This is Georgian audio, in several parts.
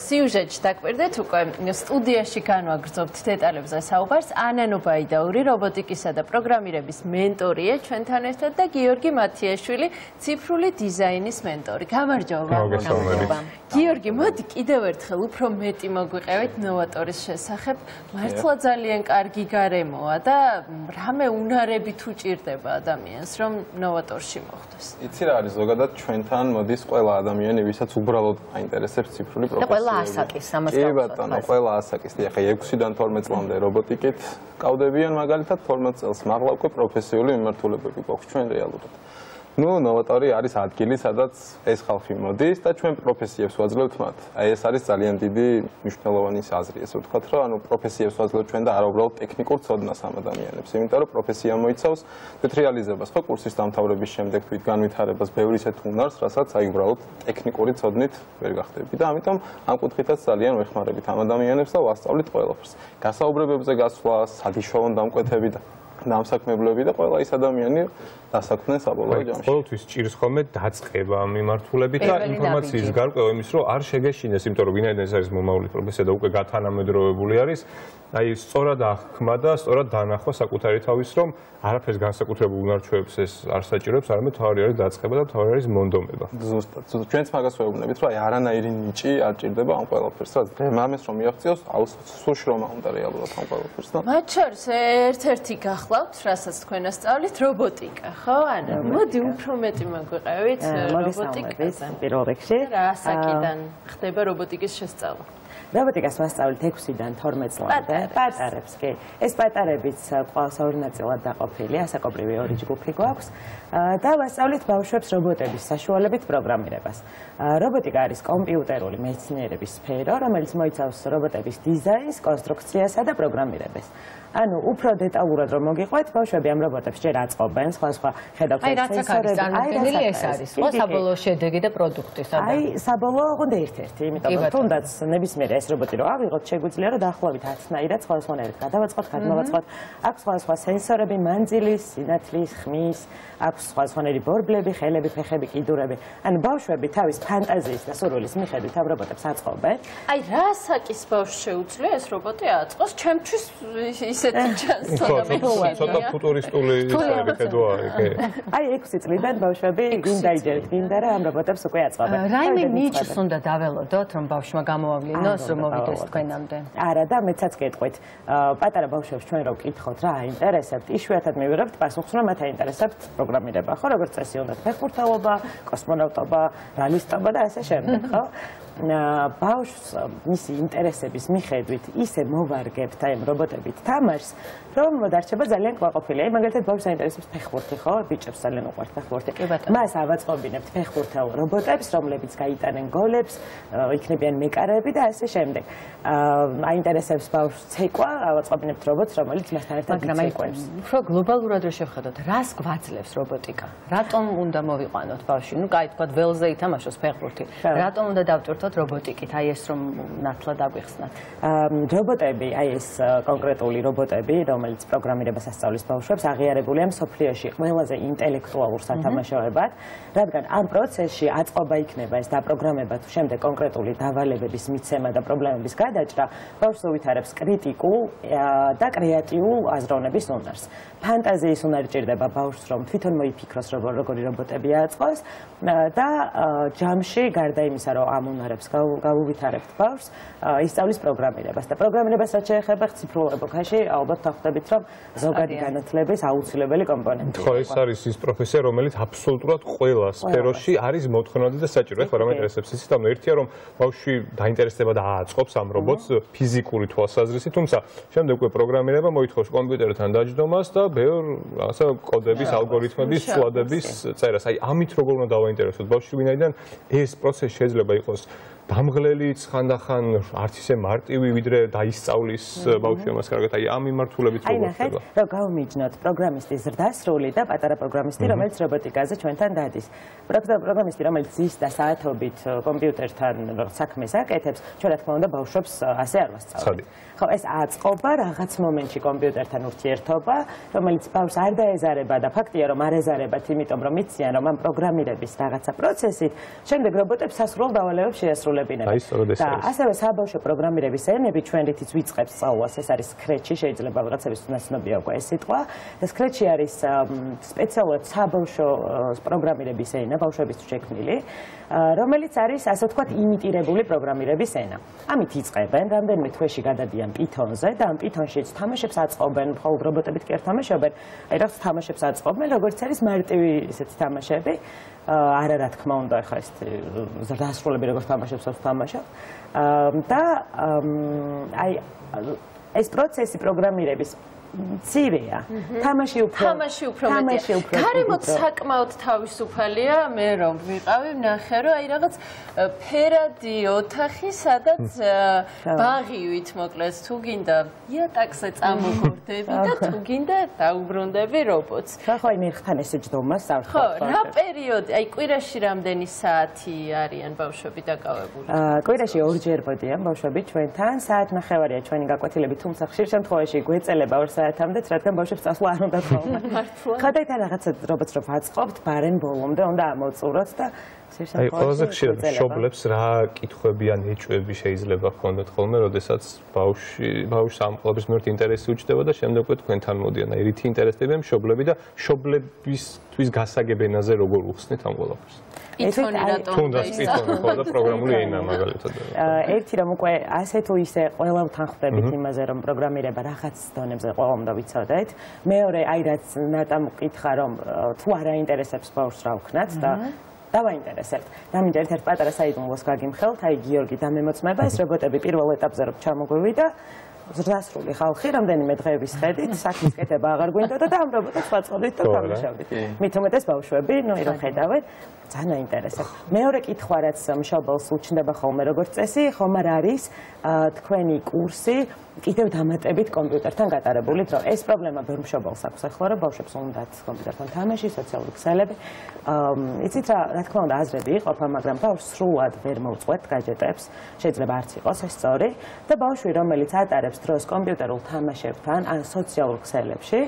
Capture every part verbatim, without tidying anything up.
სიუჟეტში დაკვირდეთ უკვე სტუდიაში განვაგრძობთ დეტალებზე საუბარს ანა ნუბაიდაური რობოტიკისა და პროგრამირების მენტორია ჩვენთან ერთად და გიორგი მათიაშვილი ციფრული დიზაინის მენტორი. გამარჯობა. გიორგი, მოდი კიდევ ერთხელ უფრო მეტი მოგვიყევით ნოვატორის შესახებ. მართლა ძალიან კარგი გარემოა და რამე უნარები თუ ჭირდება ადამიანს რომ ნოვატორში მოხვდეს. იცი რა არის ზოგადად ჩვენთან მოდის ყველა ადამიანი, ვისაც უბრალოდ აინტერესებს ციფრული პროფესია. ასაკის კი ბატონო, ყველა ასაკის. ახლა ექვსიდან თორმეტ წლამდე რობოტიკით კავდებიან მაგალითად თორმეტ წელს, მაღლა უკვე პროფესიული მიმართულებები გვაქვს ჩვენ რეალურად. ნუ ნოვატორი არის ადგილი, სადაც ეს ხალხი მოდის და ჩვენ პროფესიებს ვაძლევთ მათ. აი ეს არის ძალიან დიდი მნიშვნელოვანი აზრი, ესე ვთქვათ, რომ ანუ პროფესიებს ვაძლევთ ჩვენ და არა უბრალოდ ტექნიკურ ცოდნას ამ ადამიანებს, იმიტომ რომ პროფესია მოიცავს თვით რეალიზებას, ხო, კურსის დამთავრების შემდეგ თვით განვითარებას, ბევრი ისეთ უნარს, რასაც აი უბრალოდ ტექნიკური ცოდნით ვერ გახდები და ამიტომ ამ კუთხითაც ძალიან ვეხმარებით ამ ადამიანებს და ვასწავლით ყველაფერს. გასაუბრებებზე გასვლა, სადიშოვან დამკვეთები და დამსაქმებლები და ყველა ის ადამიანი დასაქმდნენ საბოლოო ჯამში. ყოველთვის ჭირს ხოლმე დაწყება ამ მიმართულებით და ინფორმაციის გარკვევა იმის, რომ არ შეგეშინეს, იმიტომ რომ ვინაიდან ეს არის მომავალი პროფესია და უკვე გათანამედროვებული არის, აი სწორად აღქმა და სწორად დაანახვა საკუთარი თავის, რომ არაფერს განსაკუთრებულ უნარ-ჩვევებს ეს არ საჭიროებს, არამედ თავი არის დაწყება და თავი არის მონდომება. ზუსტად. ჩვენც მაგას ვეუბნებით, რომ აი არანაირი ნიჭი არ ჭირდება ამ ყველაფერს, რაც მამეს რომ მიაღწიოს, აუცილებლად შრომა უნდა რეალურად ამ ყველაფერს და მათ შორის ერთ-ერთი გახლავთ, რასაც თქვენ ასწავლით, რობოტიკა, ხო? ანა, მოდი უფრო მეტი მოგვიყევით რობოტიკაზე. პირველ რიგში, რა ასაკიდან ხდება რობოტიკის შესწავლა? რობოტიკას ვასწავლით ექვსიდან თორმეტ წლამდე. პატარებს კი. ეს პატარებიც ყავს ორი ნაწილად დაყოფილი, ასაკობრივი ორი ჯგუფი გვაქვს და ვასწავლით ბავშვებს რობოტების საშუალებით პროგრამირებას. რობოტიკა არის კომპიუტერული მეცნიერების სფერო, რომელიც მოიცავს რობოტების დიზაინს, კონსტრუქციასა და პროგრამირებას. ანუ უფრო დეტალურად რომ მოგიყვეთ, ბავშვები ამ რობოტებს ჯერ აწყობენ, სხვა-სხვა ხედავთ სენსორები. აი, ეს არის, ხო, საბოლოო შედეგი და პროდუქტი სადაა. აი, საბოლოო უნდა ერთ-ერთი, იმიტომ რომ თუნდაც ნებისმიერი ეს რობოტი რომ ავიღოთ, შეგვიძლია რომ დაახლოებით ათნაირად სხვადასხვანაირად გადავაწყოთ, გადმოვაწყოთ. აქვს სხვადასხვა სენსორები, მანძილის, სინათლის, ხმის, აქვს სხვადასხვანაირი ბორბლები, ხელები, ფეხები, კიდურები. ანუ ბავშვები თავის ფანტაზიის და სურვილის მიხედვით ამ რობოტებს აწყობენ. აი, რა ასაკის ბავშვს შეუძლია ეს რობოტი აწყოს? ჩემთვის ისეთი ჩანს ცოტა ფუტურისტული ხედვა კი. აი, ექვსი წლიდან ბავშვები გინდა იჯერეთ, გინდა რა ამ რობოტებს უკვე აწყობენ. რაიმე ნიჭს უნდა დაველოდოთ, რომ ბავშვმა გამოავლინოს, რომ მოვიდეს თქვენამდე. არა და მეცაც გეტყვით, პატარა ბავშვებს ჩვენ რო ვკითხოთ რა აინტერესებთ, იშვიათად მივიღებთ პასუხს, რომ მათ აინტერესებთ პროგრამირება, ხო, როგორც წესი უნდა ფეხბურთელობა, კოსმონავტობა, რალისტობა და ასე შემდეგ, ხო? ბავშვს მისი ინტერესების მიხედვით ისე მოვარგებთ აი ამ რობოტებით თამაშს, რომ დარჩება ძალიან კმაყოფილი. აი მაგალითად ბავშვს აინტერესებს ფეხბურთი, ხო? ბიჭებს ძალიან უყვართ ფეხბურთი. მას ავაწყობინებთ ფეხბურთელ რობოტებს, რომლებიც გაიტანენ გოლებს, იქნებიან მეკარეები და ასე შემდეგ. აინტერესებს ბავშვს ცეკვა, ავაწყობინებთ რობოტს, რომელიც მასთან ერთად იცეკვებს. უფრო გლობალურად რო შევხედოთ, რას გვაძლევს რობოტიკა? რატომ უნდა მოვიყვანოთ ბავშვი? ნუ კაი, თქვა ველზე ითამაშოს ფეხბურთი. რატომ უნდა დავტვირთოთ რობოტიკით? აი ეს რომ ნათლად აგვიხსნათ. რობოტები, აი ეს კონკრეტული რობოტები, რომელიც პროგრამირებას ასწავლის ბავშვებს, აღიარებულია მსოფლიოში ყველაზე ინტელექტუალურ სათამაშოებად, რადგან ამ პროცესში აწყობა იქნება ეს დაპროგრამება თუ შემდეგ კონკრეტული დავალებების მიცემა და პრობლემების გადაჭრა, ბავშვს უვითარებს კრიტიკულ და კრეატიულ აზროვნების უნარს. ფანტაზიის უნარი ჭირდება ბავშვს, რომ თვითონ მოიფიქროს, როგორი რობოტები აწყოს და ჯამში გარდა იმისა, რომ ამ უნარებს გავუვითარებთ ბავშვს, ისწავლის პროგრამირებას და პროგრამირებას რაც შეეხება ციფრულ ეპოქაში, ალბათ დახვდებით, რომ ზოგადი განათლების აუცილებელი კომპონენტია. ხო, ეს არის ის პროფესია, რომელიც აბსოლუტურად ყველა სფეროში არის მოთხოვნადი და საჭირო. ეხლა რა მაინტერესებს ისიც, ანუ ერთია რომ ბავშვი დაინტერესდება და აწყობს ამ რობოტს ფიზიკური თვალსაზრისით, თუმცა შემდეგ უკვე პროგრამირება მოითხოვს კომპიუტერთან დაჯდომას და ბევრ ასე კოდების, ალგორითმების, ცვლადების წერას. აი, ამით როგორ უნდა დავაინტერესოთ ბავშვი, ვინაიდან ეს პროცესი შეიძლება იყოს დამღლელი ხანდახან არც ისე მარტივი, ვიდრე დაისწავლის ბავშვი ამას კარგად. აი, ამ მიმართულებით როგორ ხდება? აი, რომ გავმიჯნოთ პროგრამისტის ზრდასრული და პატარა პროგრამისტი, რომელიც რობოტიკაზე ჩვენთან დადის. პროგრამისტი, რომელიც ზის და საათობით კომპიუტერთან საქმეს აკეთებს, ჩვენ რა თქმა უნდა ბავშვებს ასე არ ვასწავლებთ. ხო, ეს აწყობა რაღაც მომენტში კომპიუტერთან ურთიერთობა, რომელიც ბავშვს არ დაეზარება და ფაქტია, რომ არ ეზარებათ, იმიტომ რომ იციან, რომ ამ პროგრამირების რაღაცა პროცესით შემდეგ რობოტებს სასრულ დავალებებს შეასრულებენ. დასრულებინება. და ასევე საბავშვო პროგრამირების ენები ჩვენ რითიც ვიწყებთ სწავლას, ეს არის სკრეჩი, შეიძლება ვიღაცების ნაცნობია უკვე ეს სიტყვა. და სკრეჩი არის სპეციალურად საბავშვო პროგრამირების ენა, ბავშვებისთვის შექმნილი, რომელიც არის ასე ვთქვათ იმიტირებული პროგრამირების ენა. ამით იწყებენ, რამდენიმე თვეში გადადიან Python-ზე და ამ Python-შიც თამაშებს აწყობენ, მხოლოდ რობოტებით კი არ თამაშობენ, აი რაღაც თამაშებს აწყობენ, როგორც არის მარტივი ესეთი თამაშები. არა რა თქმა უნდა, ახლა ეს დასრულები როგორც თამაშებს ვთამაშობ. და აი ეს პროცესი პროგრამირების მცირეა. თამაში უფრო თამაში უფრო მეტია. გარემოთ საკმაოდ თავისუფალია, მე რომ ვიყავი, ვნახე რომ აი რაღაც ფერადი ოთახი, სადაც ბაღივით მოკლეს, თუ გინდა იატაკზე წამოგორდები და თუ გინდა დაუბრუნდები რობოტს. ხო, აი მერხთან ესე ჯდომა სახლში. ხო, რა პერიოდი, აი კვირაში რამდენი საათი არიან ბავშვები დაკავებული? კვირაში ორჯერ მოდიან ბავშვები ჩვენთან, საათნახევარია ჩვენი გაკვეთილები, თუმცა ხშირ შემთხვევაში გვეწელება ორ საათამდეც, რადგან ბავშვებს წასვლა არ უნდა თხოვნა. ხადაითან რაღაცა რობოტს რო ვაწყობთ, ბარენ ბოლომდე უნდა ამოწუროთ და აი ყველაზე ხშირად მშობლებს რა კითხვები ან ეჭვები შეიძლება ჰქონდეთ ხოლმე, როდესაც ბავშვი ბავშვს ამ ყველაფრის მიმართ ინტერესი უჩნდება და შემდეგ უკვე თქვენთან მოდიან. აი რითი ინტერესდებიან მშობლები და მშობლებისთვის გასაგებ ენაზე როგორ უხსნით ამ ყველაფერს? Python-ი რატომ თუნდაც Python-ი ხო და პროგრამული ენა მაგალითად. ერთი რომ უკვე ასე თუ ისე ყველა ვთანხმდებით იმაზე რომ პროგრამირება რაღაც დონებზე ყველა უნდა ვიცოდეთ. მეორე აი რაც ნატამ მკითხა რომ თუ არ აინტერესებს ბავშვს რა ვქნათ და დავაინტერესებთ. დამინდა ერთ-ერთ პატარა საიდუმლოს გაგიმხელთ, აი გიორგი დამემოწმება ეს რობოტები პირველ ეტაპზე რომ ჩამოგვივიდა ზრდასრული ხალხი რამდენიმე დღეების ხედით საქმის კეთება აღარ გვინდოდა და ამ რობოტებს ვაწყობდით და თამაშობდით. მით უმეტეს ბავშვები, ნუ რომ ხედავენ, ძალიან აინტერესებს. მეორე კითხვა რაც მშობელს უჩნდება ხოლმე როგორც წესი, ხომ არ არის თქვენი კურსი კიდევ დამატებით კომპიუტერთან გატარებული დრო. ეს პრობლემა ბევრ მშობელს აქვს ახლა, რომ ბავშვებს უნდათ კომპიუტერთან თამაში, სოციალური ქსელები. იცით რა, რა თქმა უნდა აზრები იყოფა, მაგრამ ბავშვს სრულად ვერ მოუწყვეტ გაჯეტებს, შეიძლება არც იყოს ეს სწორი და ბავშვი რომელიც ატარებს დროს კომპიუტერულ თამაშებთან ან სოციალურ ქსელებში,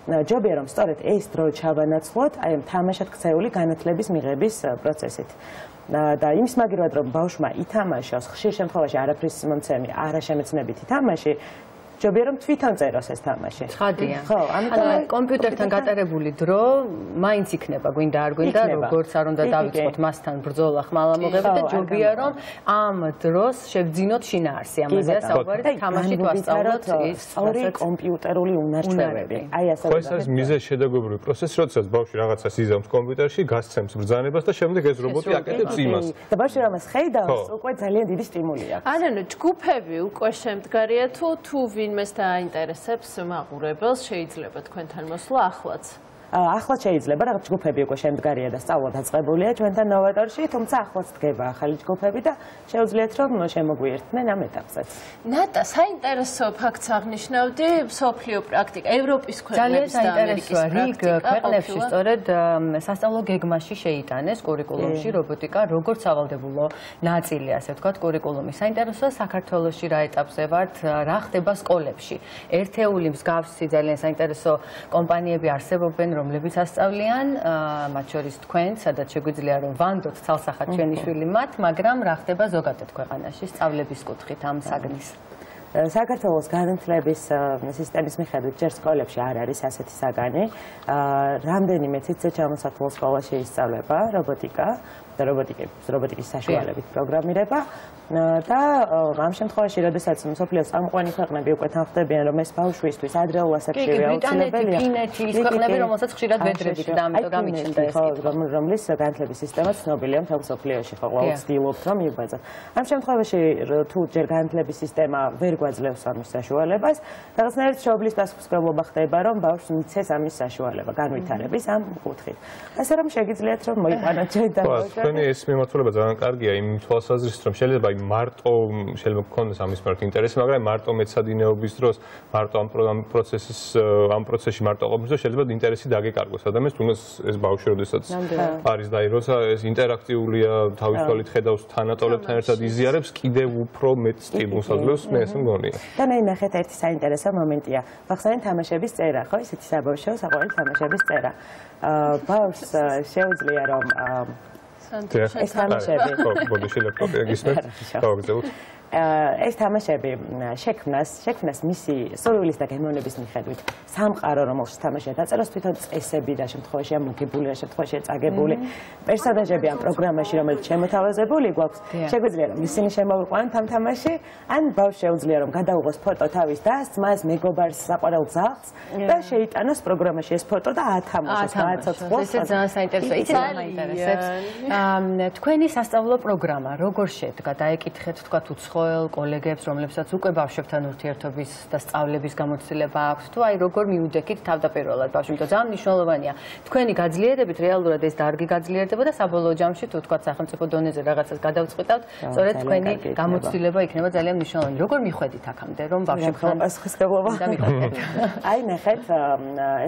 ჯობია რომ სწორედ ეს დრო ჩავანაცვლოთ აი ამ თამაშად ქცეული განათლების მიღების პროცესით. და იმის მაგივრად რომ ბავშვმა ითამაშოს ხშირ შემთხვევაში არაფრის მომცემი, არაშემეცნებითი თამაში, ჯობია რომ თვითონ წეროს ეს თამაში. ცხადია. ხო, ამიტომ კომპიუტერთან გატარებული დრო მაინც იქნება, გვინდა არ გვინდა, როგორც არ უნდა დავიწყოთ მასთან ბრძოლა ხმალამოღები და ჯობია რომ ამ დროს შევძინოთ შინაარსი ამაზეა საუბარი და თამაშით ვასწავლოთ ის სწორი კომპიუტერული უნარჩვევები. აი ასე ხო, ეს არის მიზეზ შედაგობრივი პროცესი, როდესაც ბავშვი რაღაცას იზამს კომპიუტერში, გასცემს ბრძანებას და შემდეგ ეს რობოტი აკეთებს იმას. და ბავშვი რამას ხედავს, უკვე ძალიან დიდი სტიმული აქვს. ანუ ჯგუფები უკვე შემდგარია თუ თუ ვინმეს დააინტერესებს მაყურებელს შეიძლება თქვენთან მოსვლა ახლაც. ახლა შეიძლება რაღაც ჯგუფები უკვე შემდგარია და სწავლა დაწყებულია ჩვენთან ნოვატორში, თუმცა ახლაც დგება ახალი ჯგუფები და შეუძლიათ რომ შემოგვიერთდნენ ამ ეტაპზეც. ნატა, საინტერესო ფაქტს აღნიშნავდი, მსოფლიო პრაქტიკა, ევროპის ქვეყნების და ამერიკის პრაქტიკა. ქვეყნებში სწორედ სასწავლო გეგმაში შეიტანეს კურიკულუმში რობოტიკა, როგორც სავალდებულო ნაწილი, ასე ვთქვათ, კურიკულუმის. საინტერესოა საქართველოში რა ეტაპზე ვართ, რა ხდება სკოლებში. ერთეული მსგავსი ძალიან საინტერესო კომპანიები არსებობენ, რომლებიც ასწავლიან, მათ შორის თქვენ, სადაც შეგვიძლია რომ ვანდოთ ცალსახად ჩვენი შვილი მათ, მაგრამ რა ხდება ზოგადად ქვეყანაში სწავლების კუთხით ამ საგნის? საქართველოს განათლების სისტემის მიხედვით ჯერ სკოლებში არ არის ასეთი საგანი. რამდენიმე ციცე ჩამოსათვალო სკოლაში ისწავლება რობოტიკა და რობოტიკის რობოტიკის საშუალებით პროგრამირება. და ამ შემთხვევაში, როდესაც მსოფლიოს წამყვანი ქვეყნები უკვე თანხმდებიან, რომ ეს ბავშვისთვის ადრეულ ასაკშივე აუცილებელია. ფინეთი, ის ქვეყნები, რომელსაც ხშირად ვედრებით და ამიტომ გამიჩნდა ეს კითხვა. რომლის განათლების სისტემა ცნობილია მთელ მსოფლიოში, ხო, ყველა ცდილობს რომ მიგვეძოთ. ამ შემთხვევაში, თუ ჯერ განათლების სისტემა ვერ გვაძლევს ამის საშუალებას, რაღაცნაირად შობლის პასუხისმგებლობა ხდება, რომ ბავშვს მიცეს ამის საშუალება, განვითარების ამ კუთხით. ასე რომ შეგიძლიათ რომ მოიყვანოთ ჩვენ და თქვენი ეს მიმართულება ძალიან კარგია იმ თვალსაზრისით, რომ შეიძლება მარტო შეიძლება გქონდეს ამის მიმართ ინტერესი, მაგრამ მარტო მეცადინეობის დროს, მარტო ამ პროცესის ამ პროცესში მარტო ყოფნის დროს შეიძლება ინტერესი დაგეკარგოს ადამიანს, თუნდაც ეს ბავშვი, როდესაც არის და როცა ეს ინტერაქტიულია, თავისუფლად ხედავს თანატოლებთან ერთად იზიარებს, კიდევ უფრო მეტ სტიმულს აძლევს, მე ესე მგონია. და მე ნახეთ ერთი საინტერესო მომენტია. ხახსენეთ თამაშების წერა, ხო, ისეთი საბავშვო საყვარელი თამაშების წერა. ბავშვს შეუძლია რომ ეს თამაშები. ხო, ბოდიში ლეპტოპი გისმენთ. გავაგზავნოთ. ეს თამაშები შექმნას, შექმნას მისი სურვილის და გემოვნების მიხედვით სამყარო, რომელშიც თამაშია დაწერას, თვითონ წესები და შემთხვევაში ამოგებული, შემთხვევაში წაგებული პერსონაჟები ამ პროგრამაში, რომელიც შემოთავაზებული გვაქვს, შეგვიძლია რომ ისინი შემოვიყვანოთ ამ თამაში, ან ბავშვს შეუძლია რომ გადაუღოს ფოტო თავის დასს, მას მეგობარს, საყვარელ ძაღლს და შეიტანოს პროგრამაში ეს ფოტო და ათამაშოს, გააცოცხლოს. ეს ძალიან საინტერესოა. იცით რა მაინტერესებს? თქვენი სასწავლო პროგრამა როგორ შედგა? დაეკითხეთ თქვა უცხოელ კოლეგებს, რომლებსაც უკვე ბავშვებთან ურთიერთობის და სწავლების გამოცდილება აქვს, თუ აი როგორ მიუდექით თავდაპირველად ბავშვი, იმიტომ ძალიან მნიშვნელოვანია. თქვენი გაძლიერებით რეალურად ეს დარგი გაძლიერდება და საბოლოო ჯამში თუ თქვა სახელმწიფო დონეზე რაღაცას გადავწყვიტავთ, სწორედ თქვენი გამოცდილება იქნება ძალიან მნიშვნელოვანი. როგორ მიხვედით აქამდე, რომ ბავშვებთან პასუხისმგებლობა დამიხვდეთ? აი ნახეთ,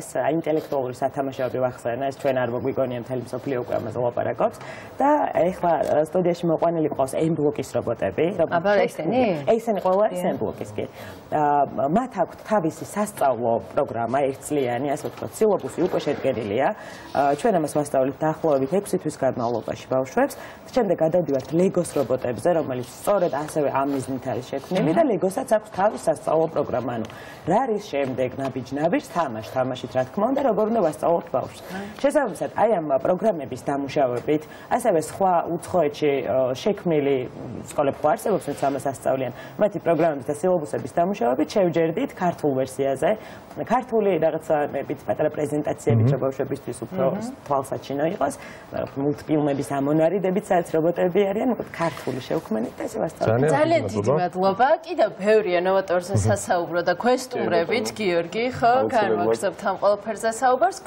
ეს ინტელექტუალური სათამაშოები ვახსენე, ეს ჩვენ არ მოგვიგონია მთელი მსოფლიო უკვე ამაზე ლაპარაკობს და ეხლა სტუდიაში მოყვანილი ყავს M ბლოკის რობოტები, აბა ესენი? ესენი ყველა არის M ბლოკის კი. მათ აქვთ თავისი სასწავლო პროგრამა, ერთწლიანი, ასე ვთქვათ, სილობუსი უკვე შედგენილია. ჩვენ ამას ვასწავლით დაახლოებით ექვსი თვის განმავლობაში ბავშვებს. შემდეგ გადავდივართ ლეგოს რობოტებზე, რომელიც სწორედ ასევე ამ მიზნით არის შექმნილი და ლეგოსაც აქვს თავის სასწავლო პროგრამა. ანუ რა არის შემდეგ ნაბიჯ-ნაბიჯს თამაშ, თამაშით რა თქმა უნდა, როგორ უნდა ვასწავლოთ ბავშვს. შესაბამისად, აი ამ პროგრამების დამუშავებით, ასევე სხვა უცხოეთში შექმნილი სკოლები ხო არსებობს, რაც ამას ასწავლიან. მათი პროგრამების და სილობუსების დამუშავებით შევჯერდით ქართულ ვერსიაზე. ქართული რაღაცა მებით პატარა პრეზენტაციებით ბავშვებისთვის უფრო თვალსაჩინო იყოს. მულტფილმების ამონარიდებიც რაც რობოტები არიან, მოკლედ ქართული შევქმნით და ესე ვასწავლეთ. ძალიან დიდი მადლობა. კიდევ ბევრია ნოვატორზე სასაუბრო და ქვესტუმრებით, გიორგი, ხო, განვაგრძობთ ამ ყველაფერზე საუბარს.